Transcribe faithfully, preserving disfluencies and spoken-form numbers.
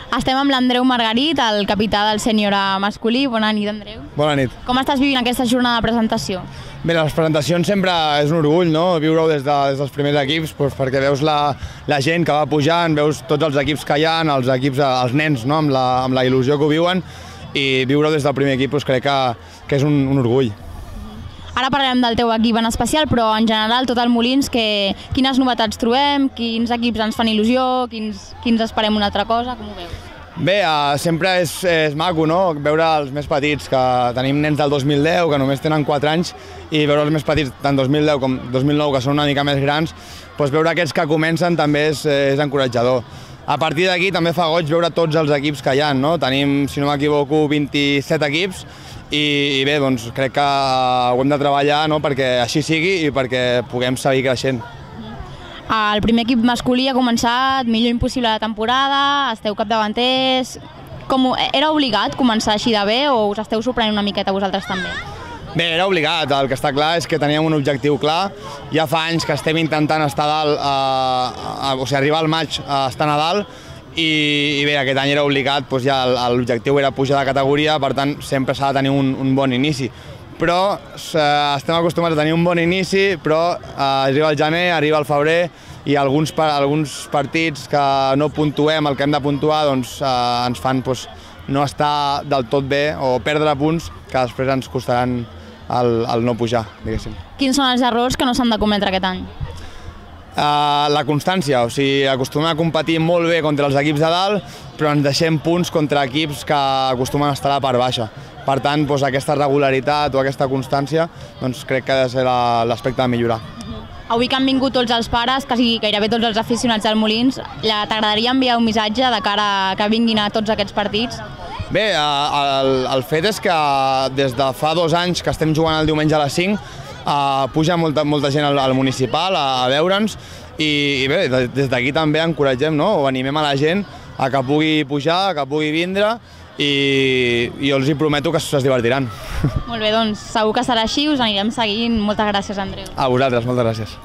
Estem amb l'Andreu Margarit, el capità del sènior masculí. Bona nit, Andreu. Bona nit. Com estàs vivint aquesta jornada de presentació? Bé, les presentacions sempre és un orgull, no? Viure-ho des, de, des dels primers equips, doncs, perquè veus la, la gent que va pujant, veus tots els equips que hi ha, els equips, els nens, no? amb, la, amb la il·lusió que ho viuen, i viure-ho des del primer equip doncs, crec que, que és un, un orgull. Ara parlarem del teu equip en especial, però en general tot el Molins, que, quines novetats trobem, quins equips ens fan il·lusió, quins, quins esperem una altra cosa, com ho veus? Bé, uh, sempre és, és maco, no? Veure els més petits, que tenim nens del dos mil deu, que només tenen quatre anys, i veure els més petits, tant dos mil deu com dos mil nou, que són una mica més grans, doncs veure aquests que comencen també és, és encoratjador. A partir d'aquí també fa goig veure tots els equips que hi ha, no? Tenim, si no m'equivoco, vint-i-set equips, i, i bé, doncs crec que ho hem de treballar, no? Perquè així sigui i perquè puguem seguir creixent. El primer equip masculí ha començat millor impossible la temporada, esteu capdavanters. Com, era obligat començar així de bé o us esteu sorprenent una miqueta vosaltres també? Bé, era obligat. El que està clar és que teníem un objectiu clar. Ja fa anys que estem intentant estar a dalt, a, a, o sigui, arribar al maig a estar a dalt, i, i bé, aquest any era obligat, doncs ja l'objectiu era pujar de categoria, per tant sempre s'ha de tenir un, un bon inici. Però eh, estem acostumats a tenir un bon inici, però eh, arriba el gener, arriba el febrer, i alguns, alguns partits que no puntuem el que hem de puntuar doncs, eh, ens fan doncs, no estar del tot bé o perdre punts que després ens costaran el, el no pujar, diguéssim. Quins són els errors que no s'han de cometre aquest any? Uh, la constància, o sigui, acostumem a competir molt bé contra els equips de dalt, però ens deixem punts contra equips que acostumen a estar a la part baixa. Per tant, doncs, aquesta regularitat o aquesta constància doncs, crec que ha de ser l'aspecte de millorar. Avui que han vingut tots els pares, quasi gairebé tots els aficionats del Molins, t'agradaria enviar un missatge de cara a que vinguin a tots aquests partits? Bé, el, el fet és que des de fa dos anys que estem jugant el diumenge a les cinc, Uh, puja molta, molta gent al, al municipal a, a veure'ns i, i bé, des d'aquí també encoratgem, no? O animem a la gent a que pugui pujar, a que pugui vindre i, i jo els hi prometo que es divertiran. Molt bé, doncs segur que serà així, us anirem seguint. Moltes gràcies, Andreu. A vosaltres, moltes gràcies.